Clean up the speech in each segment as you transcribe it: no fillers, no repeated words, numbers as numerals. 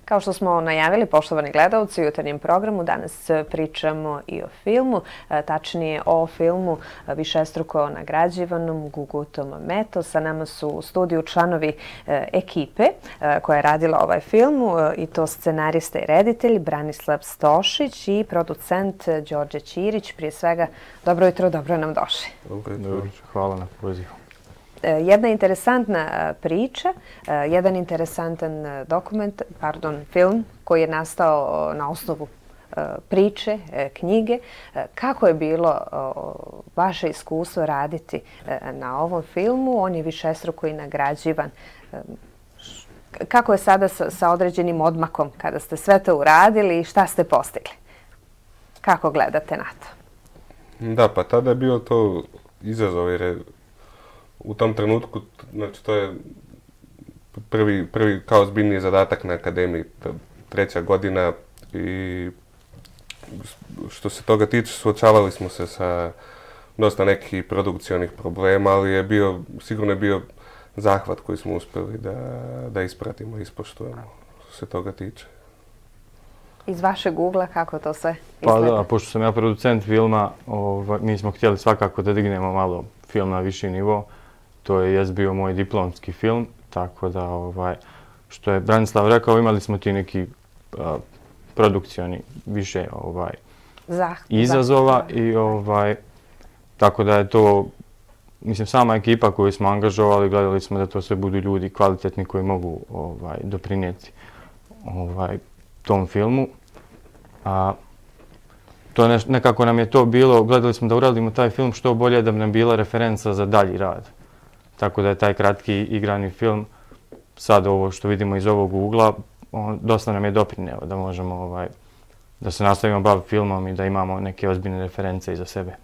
Kao što smo najavili, poštovani gledalci, u jutarnjem programu danas pričamo i o filmu, tačnije o filmu višestruko nagrađivanom Gugutom Meto. Sa nama su u studiju članovi ekipe koja je radila ovaj film, i to scenarista i reditelj Branislav Stošić i producent Đorđe Ćirić. Prije svega, dobro jutro, dobro nam došli. Dobro, hvala na pozivu. Jedna interesantna priča, jedan interesantan film koji je nastao na osnovu priče, knjige. Kako je bilo vaše iskustvo raditi na ovom filmu? On je višestruko i nagrađivan. Kako je sada sa određenim odmakom kada ste sve to uradili i šta ste postigli? Kako gledate na to? Da, pa tada je bio to izazov jer je u tom trenutku, znači to je prvi kao ozbiljniji zadatak na akademiji, 3. godina, i što se toga tiče suočavali smo se sa dosta nekih produkcionih problema, ali sigurno je bio zahvat koji smo uspjeli da ispratimo i ispoštujemo što se toga tiče. Iz vašeg ugla kako to sve izgleda? Pa da, pošto sam ja producent filma, mi smo htjeli svakako da dignemo malo film na viši nivo. To je bio moj diplomski film, tako da, što je Branislav rekao, imali smo ti neki produkcioni više izazova i tako da je to, mislim, sama ekipa koju smo angažovali, gledali smo da to sve budu ljudi kvalitetni koji mogu doprinijeti tom filmu. Nekako nam je to bilo, gledali smo da uradimo taj film što bolje da bi nam bila referenca za dalji rad. Tako da je taj kratki igrani film, sad ovo što vidimo iz ovog ugla, dosta nam je doprineo da možemo da se nastavimo baviti filmom i da imamo neke ozbiljne reference iza sebe.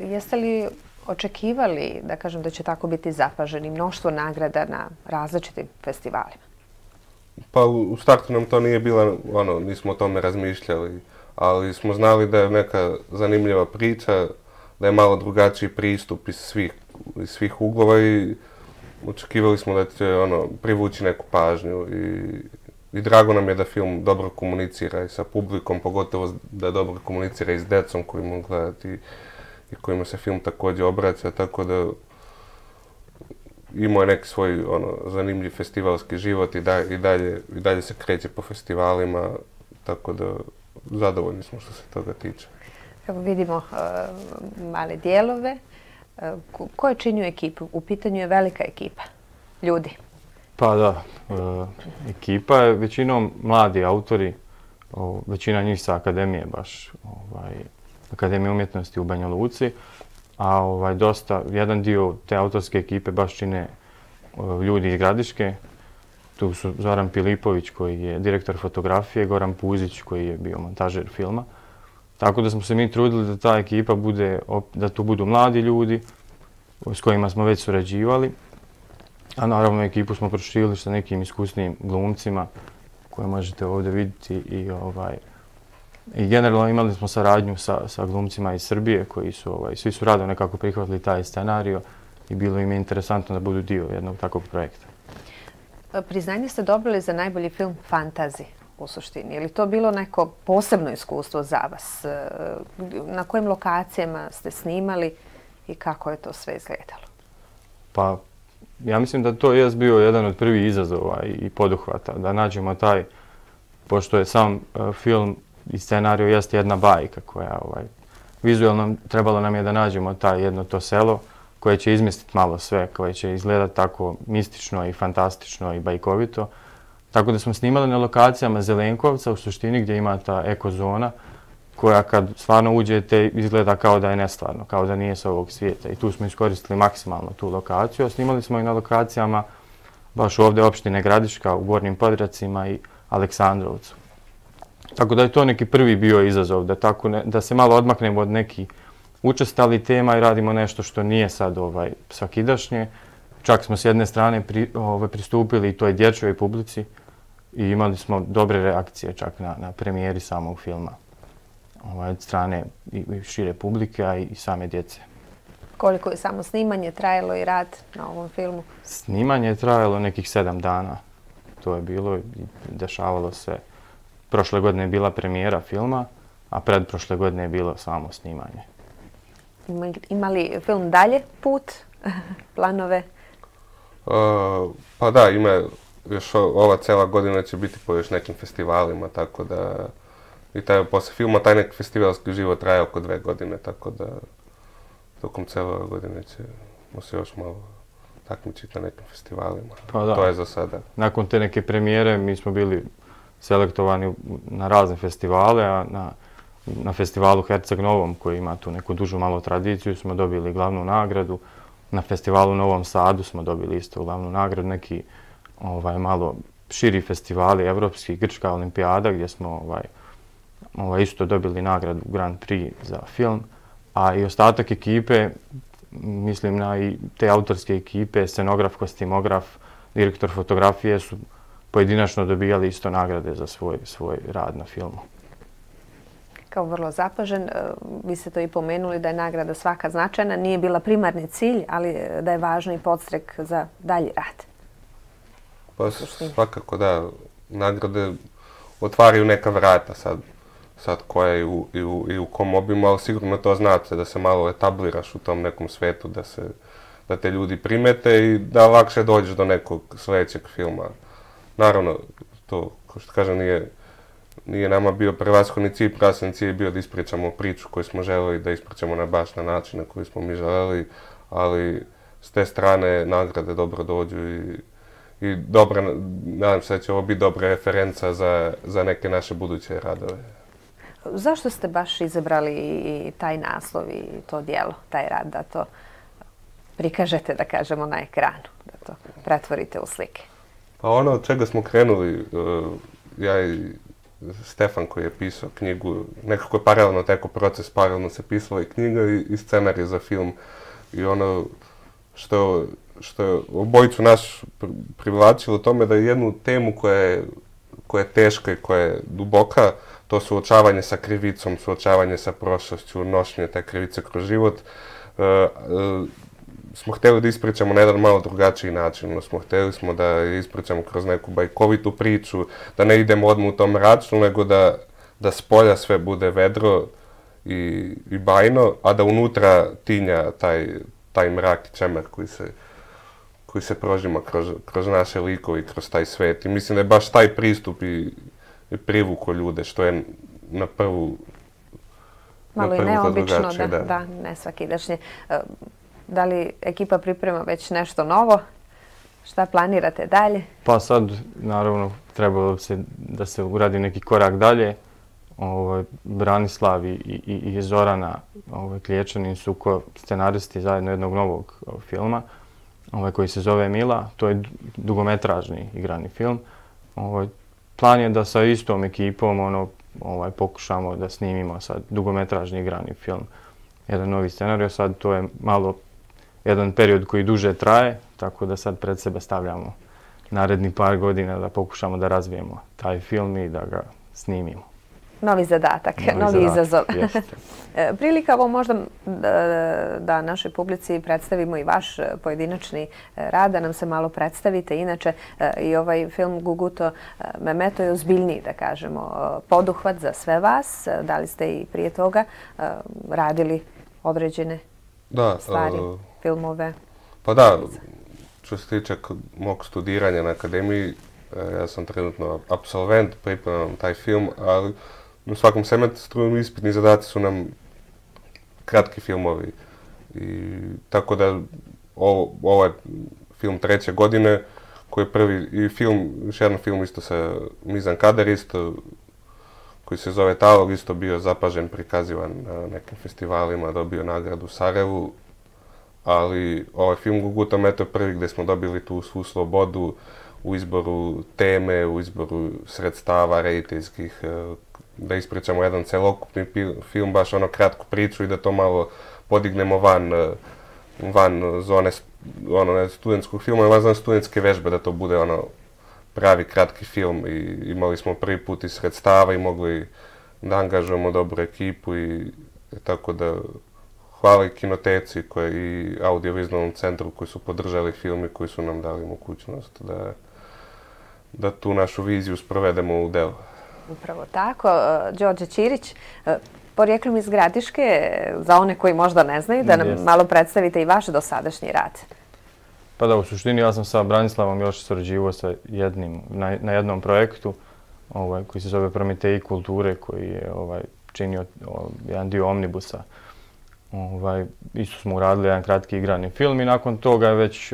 Jeste li očekivali, da kažem, da će tako biti zapaženi mnoštvo nagrada na različitim festivalima? Pa u startu nam to nije bilo, nismo o tome razmišljali, ali smo znali da je neka zanimljiva priča, da je malo drugačiji pristup iz svih uglova i očekivali smo da će privući neku pažnju i drago nam je da film dobro komunicira i sa publikom, pogotovo da dobro komunicira i s djecom koji mogu gledati i kojima se film također obraća, tako da imao je neki svoj zanimljiv festivalski život i dalje se kreće po festivalima, tako da zadovoljni smo što se toga tiče. Evo vidimo male dijelove. Ko je činio ekipu? U pitanju je velika ekipa ljudi. Pa da, ekipa je većinom mladi autori, većina njih sa akademije baš, Akademije umjetnosti u Banja Luci, a jedan dio te autorske ekipe baš čine ljudi iz Gradiške. Tu su Zoran Pilipović koji je direktor fotografije, Goran Puzić koji je bio montažer filma. Tako da smo se mi trudili da ta ekipa da tu budu mladi ljudi s kojima smo već surađivali. A naravno ekipu smo proširili sa nekim iskusnim glumcima koje možete ovdje vidjeti i generalno imali smo saradnju sa glumcima iz Srbije koji su, svi su rado nekako prihvatili taj scenario i bilo im je interesantno da budu dio jednog takvog projekta. Priznanje ste dobili za najbolji film fantazi u suštini. Je li to bilo neko posebno iskustvo za vas? Na kojim lokacijama ste snimali i kako je to sve izgledalo? Pa, ja mislim da to je bio jedan od prvih izazova i poduhvata, da nađemo taj, pošto je sam film i scenario jeste jedna bajka koja, vizualno trebalo nam je da nađemo jedno to selo koje će izmjestiti malo sve, koje će izgledati tako mistično i fantastično i bajkovito. Tako da smo snimali na lokacijama Zelenkovca u suštini gdje ima ta ekozona koja kad stvarno uđete izgleda kao da je nestvarno, kao da nije s ovog svijeta. I tu smo iskoristili maksimalno tu lokaciju, a snimali smo i na lokacijama baš ovdje opštine Gradiška u Gornjim Podracima i Aleksandrovcu. Tako da je to neki prvi bio izazov, da se malo odmaknemo od nekih učestalih tema i radimo nešto što nije sad svakidašnje. Čak smo s jedne strane pristupili i toj dječjoj publici i imali smo dobre reakcije čak na premijeri samog filma od strane i šire publike, a i same djece. Koliko je samo snimanje trajalo i rad na ovom filmu? Snimanje je trajalo nekih 7 dana. to je bilo i dešavalo se. Prošle godine je bila premijera filma, a predprošle godine je bilo samo snimanje. Ima li film dalje put, planove? Pa da, ima još ova cijela godina će biti po još nekim festivalima, tako da i poslije filma taj neki festivalski život traje oko 2 godine, tako da tokom cijele ove godine ćemo se još malo takmičiti na nekim festivalima. Pa da. To je za sada. Nakon te neke premijere mi smo bili selektovani na razne festivale, a na festivalu Herceg Novom, koji ima tu neku dužu malo tradiciju, smo dobili glavnu nagradu. Na festivalu u Novom Sadu smo dobili isto glavnu nagradu, neki malo širi festivali, evropski, Grčka olimpijada, gdje smo isto dobili nagradu Grand Prix za film. A i ostatak ekipe, mislim na i te autorske ekipe, scenograf, kostimograf, direktor fotografije su pojedinačno dobijali isto nagrade za svoj rad na filmu. Kao vrlo zapažen, vi ste to i pomenuli da je nagrada svaka značajna, nije bila primarni cilj, ali da je važno i podstrek za dalji rad. Pa svakako da, nagrade otvaraju neka vrata sad koja i u kom obimu, ali sigurno to znači da se malo etabliraš u tom nekom svetu, da te ljudi primete i da lakše dođeš do nekog sljedećeg filma. Naravno, to, kao što kažem, nije nama bio prevashodni cilj, prevashodni cilj je bio da ispričamo priču koju smo željeli da ispričamo na baš na način na koji smo mi željeli, ali s te strane nagrade dobro dođu i dobra, nadam se da će ovo biti dobra referenca za neke naše buduće radove. Zašto ste baš izabrali i taj naslov i to djelo, taj rad, da to prikažete, da kažemo, na ekranu, da to pretvorite u slike? Pa ono od čega smo krenuli, ja i Stefan koji je pisao knjigu, nekako je paralelno teko proces, paralelno se pisala i knjiga i scenarij za film. I ono što je obojicu nas privlačilo tome da je jednu temu koja je teška i koja je duboka, to suočavanje sa krivicom, suočavanje sa prošlošću, nošenje te krivice kroz život, smo htjeli da ispričamo na jedan malo drugačiji način. Htjeli smo da je ispričamo kroz neku bajkovitu priču, da ne idemo odmah u tom mračnu, nego da s polja sve bude vedro i bajno, a da unutra tinja taj mrak i čemer koji se prožima kroz naše likove i kroz taj svet. I mislim da je baš taj pristup i privuko ljude, što je na prvu malo i neobično, da, ne svakidašnje. Da li ekipa priprema već nešto novo? Šta planirate dalje? Pa sad, naravno, trebalo se da se uradi neki korak dalje. Branislav i Zorana Kliječanin su scenaristi zajedno jednog novog filma koji se zove Mila. To je dugometražni igrani film. Plan je da sa istom ekipom pokušamo da snimimo sad dugometražni igrani film. Jedan novi scenarij, sad to je malo jedan period koji duže traje, tako da sad pred sebe stavljamo naredni par godina da pokušamo da razvijemo taj film i da ga snimimo. Novi zadatak, novi izazov. Prilika ovo možda da našoj publici predstavimo i vaš pojedinačni rad, da nam se malo predstavite. Inače, i ovaj film Guguto Memeto je ozbiljniji, da kažemo, poduhvat za sve vas. Da li ste i prije toga radili određene stvari, filmove? Pa da, što se tiče mog studiranja na akademiji, ja sam trenutno apsolvent, pripremam taj film, ali u svakom semestru ispitni zadaci su nam kratki filmovi. Tako da ovo je film 3. godine, koji je prvi i film, još jedan film isto sa Mizan Kader isto, koji se zove Talog, isto bio zapažen, prikazivan na nekim festivalima, dobio nagradu u Sarajevu. Ali ovaj film Guguto Meto je prvi gdje smo dobili tu svu slobodu u izboru teme, u izboru sredstava rediteljskih, da ispričamo jedan celokupni film, baš kratku priču i da to malo podignemo van zone studentskog filma, van zone studentske vežbe, da to bude pravi kratki film. I imali smo prvi put i sredstava i mogli da angažujemo dobru ekipu i tako da hvala i Kinoteci i Audiovizualnom centru koji su podržali film i koji su nam dali mogućnost da tu našu viziju sprovedemo u delo. Upravo tako. Đorđe Ćirić, porijeklom iz Gradiške, za one koji možda ne znaju, da nam malo predstavite i vaš dosadašnji rad. Pa da, u suštini ja sam sa Branislavom još surađivao na jednom projektu koji se zove Prometeji kulture, koji je činio jedan dio Omnibusa. Isto smo uradili jedan kratki igrani film i nakon toga je već,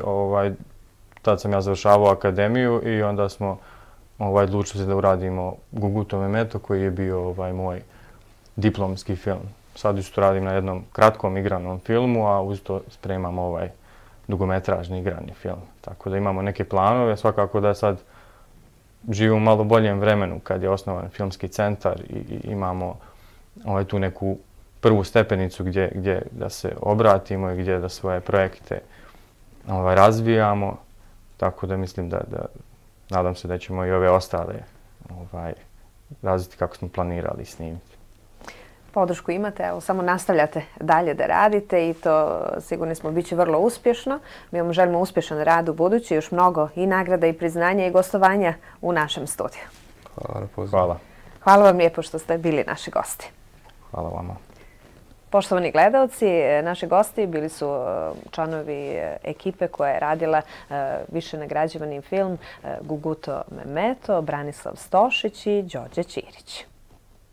tad sam ja završavao akademiju i onda smo odlučili se da uradimo Gugutov Memeto, koji je bio moj diplomski film. Sad isto radim na jednom kratkom igranom filmu, a uz to spremam dugometražni igrani film. Tako da imamo neke planove, svakako da sad živimo u malo boljem vremenu kad je osnovan filmski centar i imamo tu neku prvu stepenicu gdje da se obratimo i gdje da svoje projekte razvijamo. Tako da mislim nadam se da ćemo i ove ostale razviti kako smo planirali snimiti. Podršku imate, evo samo nastavljate dalje da radite i to sigurni smo bit će vrlo uspješno. Mi vam želimo uspješan rad u budući, još mnogo i nagrada i priznanja i gostovanja u našem studiju. Hvala. Hvala vam lijepo što ste bili naši gosti. Hvala vama. Poštovani gledalci, naši gosti bili su članovi ekipe koja je radila više nagrađivani film Guguto Memeto, Branislav Stošić i Đorđe Ćirić.